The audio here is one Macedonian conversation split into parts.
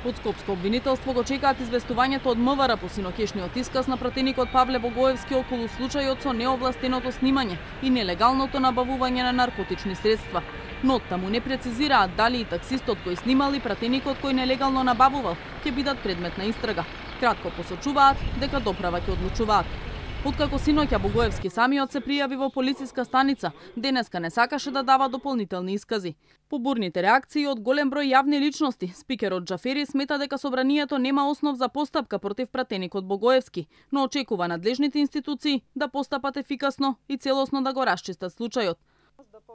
Од Скопско обвинителство го чекаат известувањето од МВР по синокешниот исказ на пратеникот Павле Богоевски околу случајот со неовластеното снимање и нелегалното набавување на наркотични средства. Но оттаму не прецизираат дали и таксистот кој снимал и пратеникот кој нелегално набавувал ќе бидат предмет на истрага. Кратко посочуваат дека доправа ќе одлучуваат. Откако синоќа Богоевски самиот се пријави во полициска станица, денеска не сакаше да дава дополнителни искази. По бурните реакции од голем број јавни личности, спикерот Џафери смета дека собранието нема основ за постапка против пратеникот Богоевски, но очекува надлежните институции да постапат ефикасно и целосно да го расчистат случајот.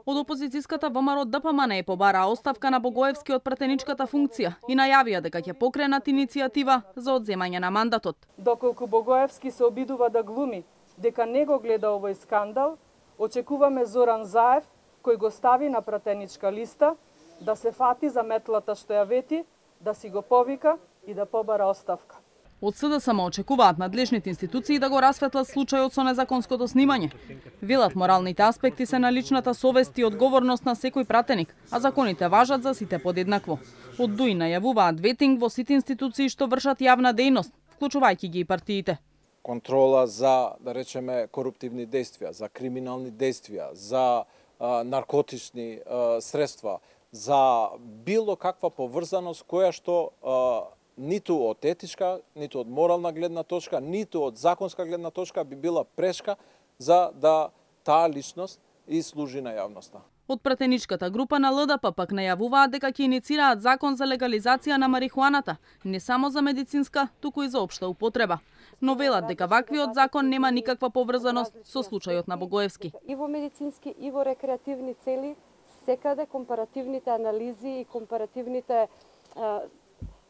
Од опозицијската ВМРО ДПМН побараа оставка на Богоевски од пратеничката функција и најавија дека ќе покренат иницијатива за одземање на мандатот. Доколку Богоевски се обидува да глуми дека не го гледа овој скандал, очекуваме Зоран Заев, кој го стави на пратеничка листа, да се фати за метлата што ја вети, да си го повика и да побара оставка. Од СДСМ очекуваат надлежните институции да го расветлат случајот со незаконското снимање. Велат моралните аспекти се на личната совест и одговорност на секој пратеник, а законите важат за сите подеднакво. Од ДУИ најавуваат ветинг во сите институции што вршат јавна дејност, вклучувајќи ги и партиите. Контрола за, да речеме, коруптивни действија, за криминални действија, за наркотични средства, за било каква поврзаност која што ниту од етичка, ниту од морална гледна точка, ниту од законска гледна точка би била прешка за да таа личност и служи на јавноста. Од пратеничката група на ЛДП пак најавуваат дека ќе иницираат закон за легализација на марихуаната, не само за медицинска, туку и за општа употреба. Но велат дека ваквиот закон нема никаква поврзаност со случајот на Богоевски. И во медицински и во рекреативни цели, секаде компаративните анализи и компаративните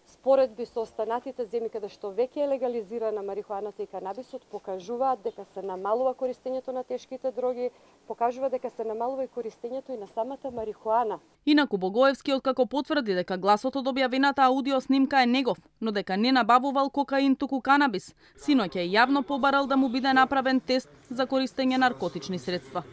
споредби со останатите земји каде што веќе е легализирана марихуаната и канабисот покажуваат дека се намалува користењето на тешките дроги, покажува дека се намалува и користењето и на самата марихуана. Инаку Богоевски откако потврди дека гласот од објавената аудио снимка е негов, но дека не набавувал кокаин туку канабис, синоќа е јавно побарал да му биде направен тест за користење наркотични средства.